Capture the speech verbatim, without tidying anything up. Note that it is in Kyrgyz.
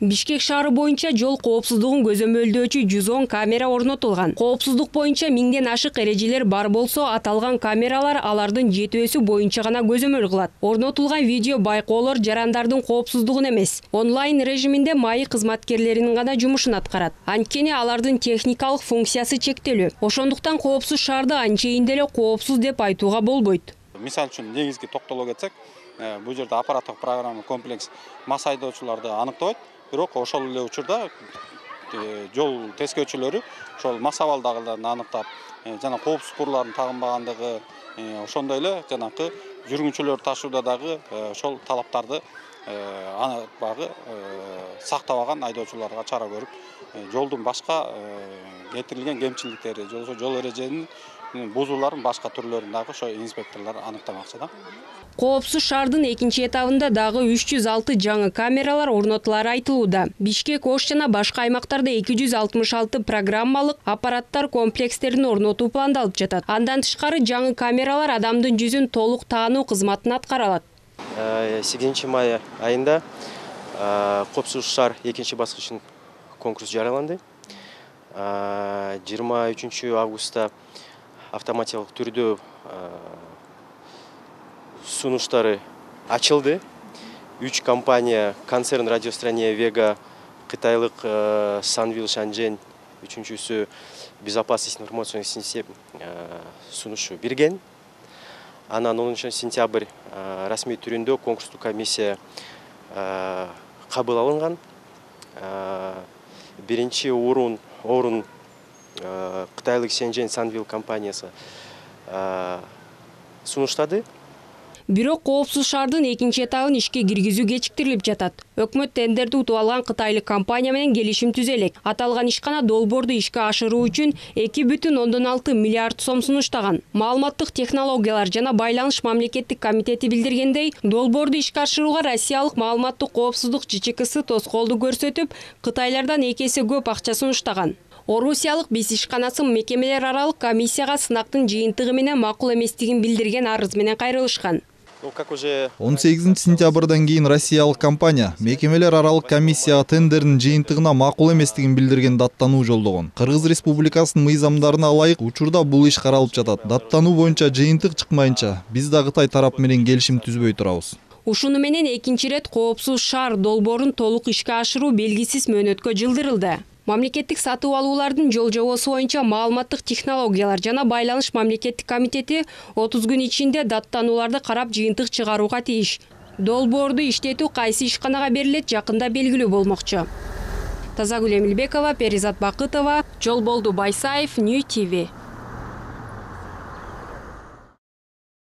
Бишкек шаары боюнча жол коопсуздугун көзөмөлдөөчү жүз он камера орнотулган. Коопсуздук боюнча миңден ашык эрежелер бар болсо, аталган камералар алардын жетүүсү боюнча гана көзөмөл кылат. Орнотулган видео байкоолор жарандардын коопсуздугун эмес, онлайн режиминде МАИ кызматкерлеринин гана жумушун аткарат. Анткени алардын техникалык функциясы чектелүү. Ошондуктан коопсуз шаарды анчейин деле коопсуз деп айтууга болбойт. Мисал үчүн негизги токтоло кетсек, бул жерде аппараттык программа комплекс мас айдоочуларды аныктабайт. Бирок ошол эле учурда жол тескөөчүлөрү ошол мас абалдагыларын аныктап, жана коопсуз курларын тагынбагандыгы, ошондой эле жанакы жүргүнчүлөр ташууда дагы ошол талаптарды багы сактабаган айдоочуларга чара көрүп, жолдун башка кетирилген кемчиликтери, жол эреженин бузууларын башка түрлөрүн дагы ошо инспекторлор аныктамакчы да. Коопсуз шаардын экинчи этабында дагы үч жүз алты жаңы камералар орнотулары айтылууда. Бишкек, Ош жана башка аймактарда эки жүз алтымыш алты программалык аппараттар комплекстерин орнотуу пландалып жатат. Андан тышкары жаңы камералар адамдын жүзүн толук таануу кызматын аткара алат. сегизинчи май айында коопсуз шаар экинчи баскычын конкурс жарыяланды. жыйырма үчүнчү августта автоматикалык түрдө сунуштары ачылды. Үч компания, концерн Радиострания Вега, кытайлык Санвил Шанжен, үчүнчүсү Безопасность информационных систем сунушу берген. Анан онунчу сентябрь расмий түрүндө конкурстук комиссия кабыл алынган. Биринчи орун орун кытайлык Шенжен Санвил компаниясы сунуштады. Бирок коопсуз шаардын экинчи этабын ишке киргизүү кечиктирилип жатат. Өкмөт тендерди утуп алган кытайлык компания менен келишим түзө элек. Аталган ишкана долбоорду ишке ашыруу үчүн эки бүтүн ондон алты миллиард сом сунуштаган. Маалыматтык технологиялар жана байланыш мамлекеттик комитети билдиргендей, долбоорду ишке ашырууга Россиялык маалыматтык коопсуздук Ж Ч Ксы тоскоолдук көрсөтүп, кытайлардан эки эсе көп акча сунуштаган. Орусиялык биз ишканасы мекемелер аралык комиссияга сынактын жыйынтыгы менен макул эместигин билдирген арыз менен кайрылышкан. он сегизинчи сентябрдан кийин Россиялык компания мекемелер аралык комиссияга тендердин жыйынтыгына макул эместигин билдирген даттануу жолдогон. Кыргыз Республикасынын мыйзамдарына ылайык учурда бул иш каралып жатат. Даттануу боюнча жыйынтык чыкмайынча биз да Кытай тарап менен келишим түзбөй турабыз. Ушуну менен экинчи ирет коопсуз шаар долбоорун толук ишке ашыруу белгисиз мөөнөткө жылдырылды. Мамлекеттик сатып алуулардын жол жобосу боюнча маалыматтык технологиялар жана байланыш мамлекеттик комитети отуз күн ичинде даттанууларды карап жыйынтык чыгарууга тийиш. Долбоорду иштетүү кайсы ишканага берилет жакында белгилүү болмокчу. Тазагүл Эмилбекова, Перизат Бакытова, Жолболду Байсаев, Нью ТВ.